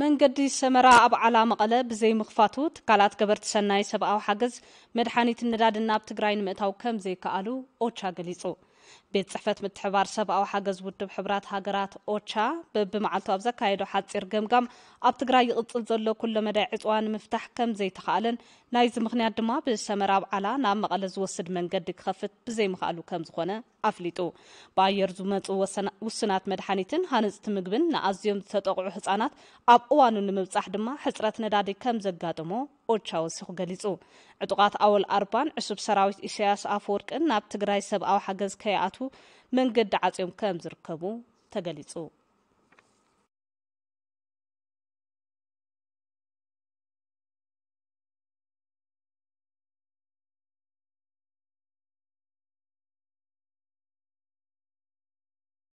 መንገዲ ሰመራ ኣብ ዓላ መቐለ ብዘይምኽፋቱ ትካላት ገበርቲ ሰናይ ሰብኣዊ ሓገዝ መድሓኒትን ነዳድን ናብ ትግራይ ንምእታው ከም ዘይከኣሉ ኦቻ ገሊጹ። ቤት ጽሕፈት ምትሕባር ሰብኣዊ ሓገዝ ውድብ ሕብራት ሃገራት ኦቻ በብመዓልቱ ኣብ ዘካየዶ ሓጺር ገምጋም ኣብ ትግራይ ይቕጽል ዘሎ ኩለ መዳይ ዕጽዋ ንምፍታሕ ከም ዘይተኻእለን ናይዚ ምኽንያት ድማ ብሰመራ ኣብ ዓላ ናብ መቐለ ዝወስድ መንገዲ ክኸፍት ብዘይምኽኣሉ ከም ዝኾነ ኣፍሊጡ። ብኣየር ዝመፁ ውሱናት መድሓኒትን ሃነፅቲ ምግብን ንኣዝዮም ዝተጠቕዑ ህፃናት ኣብ እዋኑ ንምብፃሕ ድማ ሕፅረት ነዳዲ ከም ዘጋጠሞ ኦቻ ወሲኹ ገሊፁ። ዕጡቓት ኣወል ኣርባን ዕሱብ ሰራዊት ኢሳያስ ኣፈወርቅን ናብ ትግራይ ሰብኣዊ ሓገዝ ከይኣቱ መንገዲ ዓፅዮም ከም ዝርከቡ ተገሊፁ።